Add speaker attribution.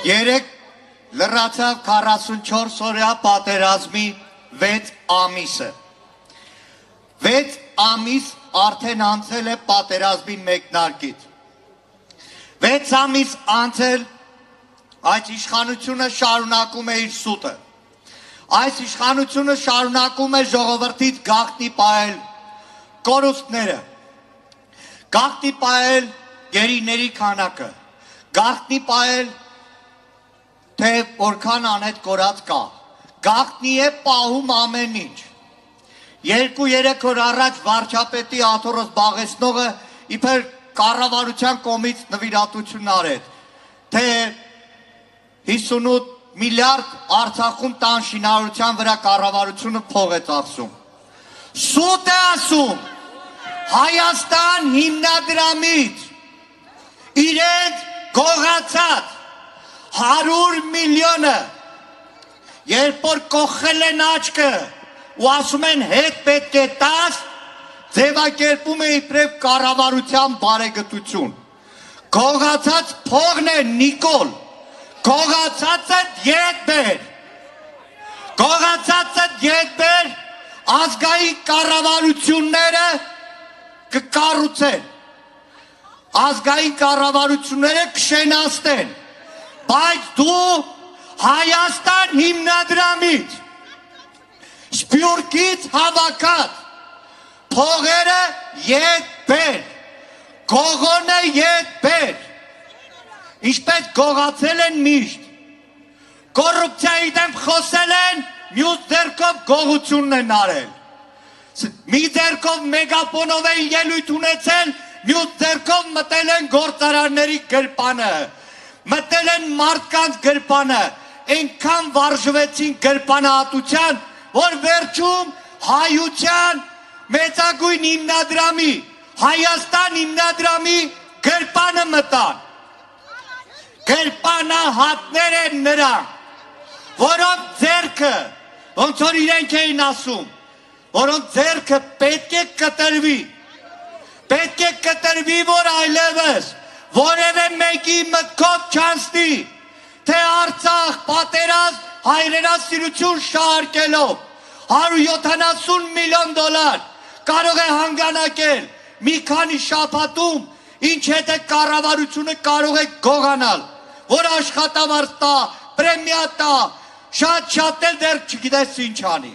Speaker 1: Երեք լրացավ 44 օրյա պատերազմի 6 ամիսը։ 6 ամիս արդեն անցել է պատերազմի մեկնարկից։ 6 ամիս անցել այս իշխանությունը շարունակում է իր սուտը։ Այս իշխանությունը շարունակում է ժողովրդից գաղտնի պահել կորուստները, գաղտնի պահել գերիների քանակը, գաղտնի պահել թե որքան անհետ կորած կա, գաղտնի է պահում ամեն ինչ։ 2-3 օր առաջ վարչապետի աթոռը զբաղեցնողը իբր կառավարության կողմից նվիրատություն արեց, թե 58 միլիարդ Արցախում տան շինարարության վրա կառավարությունը փող է ծախսում։ Սուտ է ասում Հայաստան հիմնադրամից իրենց գողացած 100 միլիոնը, երբ որ կոխել են աչքը ու ասում են հետ պետք է տաս, ձևակերպում է իբրև կառավարության բարեգտություն։ Գողացած փողն է Նիկոլ, գողացածը ետ բեր, գողացածը ետ բեր, ազգային կառավարությունները կկառուցեն, ազգային կառավարությունները կշենացնեն, բայց դու Հայաստան հիմնադրամից Սփյուռքից հավաքած փողերը ետ բեր, գողոնը ետ բեր, ինչպես գողացել են միշտ, կոռուպցիայի դեմ խոսել են, մյուս ձեռքով գողությունն են արել, մի ձեռքով մեգապոնով են ելույթ ունեցել, մյուս ձեռքով մտել են գործարանների գրպանը, մտել են մարդկանց գրպանը, այնքան վարժվեցին գրպանահատության, որ վերջում հայության մեծագույն հիմնադրամի, Հայաստան հիմնադրամի գրպանը մտան։ Գրպանահատներ են նրանք, որոնք ձեռքը, ոնց որ իրենք էին ասում, որոնք ձեռքը պետք է կտրվի, որ այլևս որևէ մեկի մտքով չանցնի, թե Արցախ պատերազմ հայրենասիրություն շարքելով 170 միլիոն դոլար կարող է հանգանակել մի քանի շաբաթում, ինչ հետ է կառավարությունը կարող է գողանալ, որ աշխատավարձ տա, պրեմիա տա, շատ էլ դեռ չգիտես ինչ անի։